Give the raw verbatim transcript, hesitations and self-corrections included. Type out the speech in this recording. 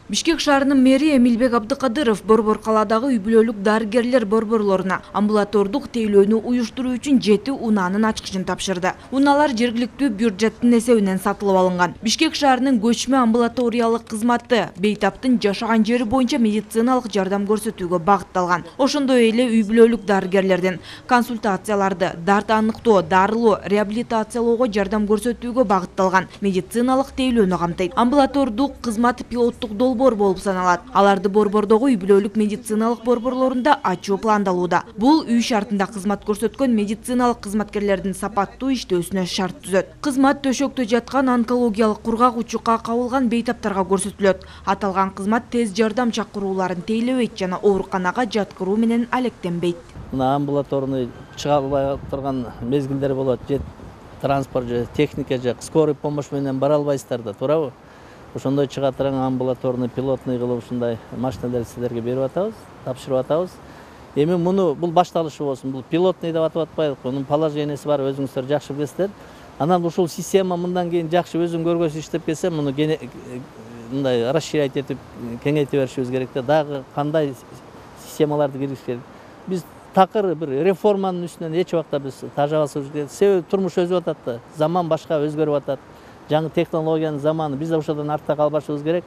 Бишкек шаарынын мэри Эмилбек Абдыкадыров Борбор калаадагы үй бүлөлүк дарыгерлер борборлоруна амбулатордук тейлөөнү уюштуруу үчүн жети унаанын ачкычын тапшырды. Унаалар жергиликтүү бюджеттин эсебинен сатылып алынган. Бишкек шаарынын көчмө амбулаториялык кызматы бейтаптын жашаган жери боюнча медициналык жардам көрсөтүүгө багытталган. Ошондой эле үй бүлөлүк дарыгерлердин консультацияларды, дарт аныктоо, дарылоо, реабилитациялоого жардам көрсөтүүгө багытталган медициналык тейлөөнү камтыйт. Амбулатордук кызмат пилоттук долбоор болуп саналат. Аларды борбордогу үй бүлөлүк медициналык борборлорунда ачуу пландалууда. Бул үй шартында кызмат көрсөткөн медициналык кызматкерлердин сапаттуу иштөөсүнө шарт түзөт. Кызмат төшөктө жаткан онкологиялык кургак учукка кабылган бейтаптарга көрсөтүлөт. Аталган кызмат тез жардам чакырууларын тейлебейт жана ооруканага жаткыруу менен алектенбейт. Мына амбулаторный чыга албай турган мезгилдер болот. Же транспорт, же техника, же скорый помощь менен бара албайсыздар да, туурабы? Ошондой чыга турган амбулаторный пилотный кылып ушундай машиналерди силерге берип атабыз, тапшырып атабыз. Эми муну бул башталышы болсун. Бул пилотный деп атап атпайлык. Мунун положениясы бар, өзүңүздөр жакшы билесиздер. Анан ушул система мындан кийин жакшы өзүң көргөсү иштеп келсе, муну мындай расширять этип, кеңейте беришибиз керек да. Дагы кандай системаларды киргизиш керек. Биз такыр бир реформанын үстүнөн эч убакта биз тажабасыбыз керек. Себеби турмуш өзүп атат да, заман башка өзгөрүп атат. Жаңы технологиянын заманы, биз ошодон артта калбашыбыз керек.